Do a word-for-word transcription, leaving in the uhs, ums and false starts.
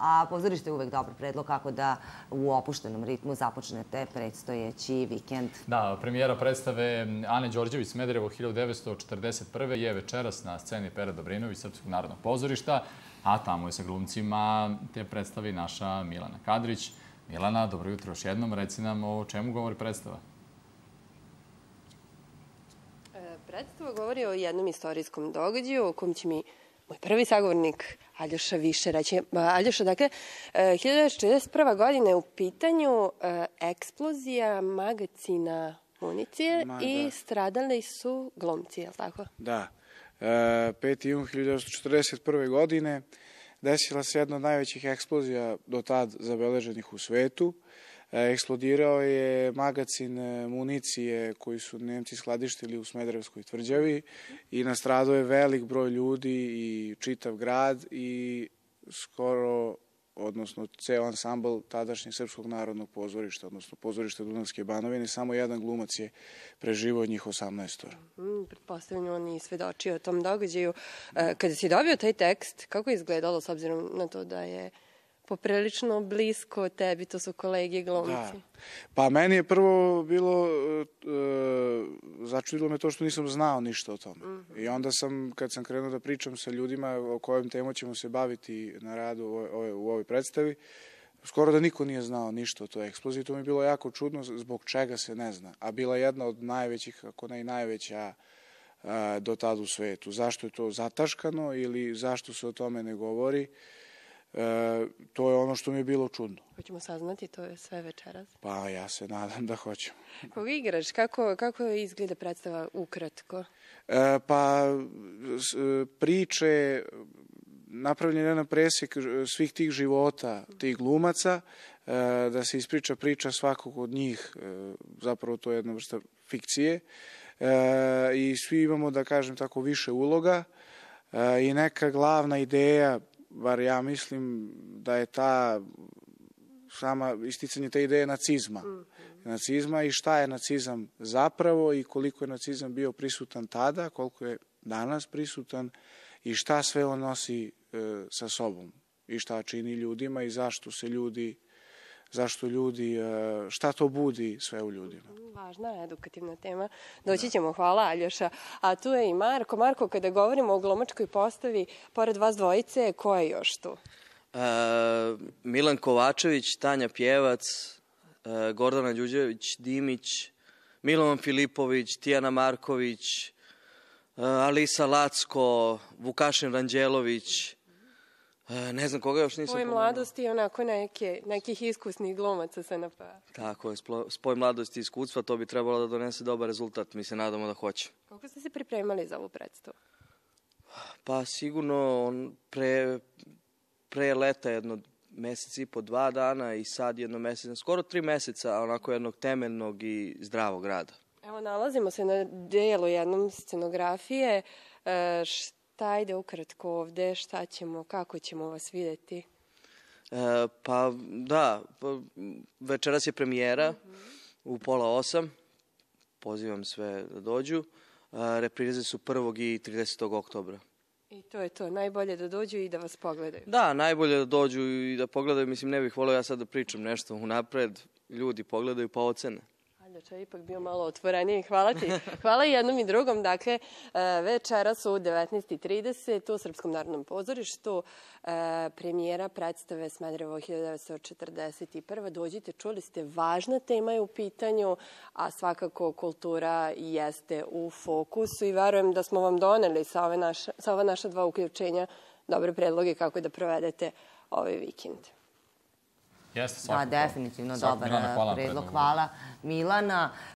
a pozorište je uvek dobar predlog kako da u opuštenom ritmu započnete predstojeći vikend. Da, premijera predstave Ane Đorđević Smederevo hiljadu devetsto četrdeset prve je večeras na sceni Pere Dobrinović Srpskog narodnog pozorišta, a tamo je sa glumcima te predstavi naša Milana Kadrić. Milana, dobro jutro još jednom. Reci nam o čemu govori predstava. Predstava govori o jednom istorijskom događaju o kom će mi moj prvi sagovornik Aljoša više reći. Aljoša, dakle, hiljadu devetsto četrdeset prva godina je u pitanju eksplozija magacina municije i stradali su glumci, je li tako? Da. peti jun hiljadu devetsto četrdeset prve godine desila se jedna od najvećih eksplozija do tad zabeleženih u svetu. Eksplodirao je magacin municije koji su Nemci skladištili u Smederevskoj tvrđavi i nastradao je velik broj ljudi i čitav grad i skoro, odnosno ceo ansambl tadašnjeg Srpskog narodnog pozorišta, odnosno pozorišta Dunavske Banovine. Samo jedan glumac je preživao od njih osamnaestora. Pretpostavljam, on je svedočio o tom događaju. Kada si dobio taj tekst, kako je izgledalo s obzirom na to da je poprilično blisko tebi, to su kolege glumci? Da. Pa meni je prvo bilo, začudilo me to što nisam znao ništa o tome. I onda sam, kad sam krenuo da pričam sa ljudima o kojim temom ćemo se baviti na radu u ovoj predstavi, skoro da niko nije znao ništa o toj eksploziji. To mi je bilo jako čudno zbog čega se ne zna. A bila jedna od najvećih, ako ne i najveća do tada u svetu. Zašto je to zataškano ili zašto se o tome ne govori? To je ono što mi je bilo čudno. Hoćemo saznati, to je sve večeras? Pa ja se nadam da hoćemo. Koga igraš? Kako izgleda predstava ukratko? Pa priče, napravljen je jedan presjek svih tih života, tih glumaca, da se ispriča priča svakog od njih, zapravo to je jedna vrsta fikcije, i svi imamo, da kažem tako, više uloga i neka glavna ideja, bar ja mislim da je ta sama isticanje te ideje nacizma. Nacizma i šta je nacizam zapravo i koliko je nacizam bio prisutan tada, koliko je danas prisutan i šta sve on nosi sa sobom i šta čini ljudima i zašto se ljudi, zašto ljudi, šta to budi sve u ljudima. Važna edukativna tema. Doći ćemo, hvala Aljoša. A tu je i Marko. Marko, kada govorimo o glumačkoj postavi, pored vas dvojice, ko je još tu? Milan Kovačević, Tanja Pjevac, Gordana Đuđević-Dimić, Milovan Filipović, Tijana Marković, Alisa Lacko, Vukašin Ranđelović, ne znam koga još nisam pomenula. Spoj mladosti i onako nekih iskusnih glumaca S N P-a. Tako je, spoj mladosti i iskustva, to bi trebalo da donese dobar rezultat, mi se nadamo da hoće. Kako ste se pripremali za ovu predstavu? Pa sigurno pre, pre leta jedno mesec i po, dva dana i sad jedno mesec, skoro tri meseca onako jednog temeljnog i zdravog rada. Evo, nalazimo se na delu jednom scenografije. Šta ide ukratko ovde, šta ćemo, kako ćemo vas vidjeti? Pa da, večeras je premijera u pola osam, pozivam sve da dođu. Reprize su prvog i tridesetog oktobra. I to je to, najbolje da dođu i da vas pogledaju. Da, najbolje da dođu i da pogledaju, mislim ne bih volio ja sad da pričam nešto unapred, ljudi pogledaju pa ocene. Aljoša je ipak bio malo otvoreniji. Hvala ti. Hvala i jednom i drugom. Dakle, večeras u devetnaest i trideset u Srpskom narodnom pozorištu premijera predstave Smederevo hiljadu devetsto četrdeset prve. Dođite, čuli ste, važna tema je u pitanju, a svakako kultura jeste u fokusu i verujem da smo vam doneli sa ova naša dva uključenja dobre predloge kako da provedete ovaj vikend. Da, definitivno dobar predlog. Hvala Milana.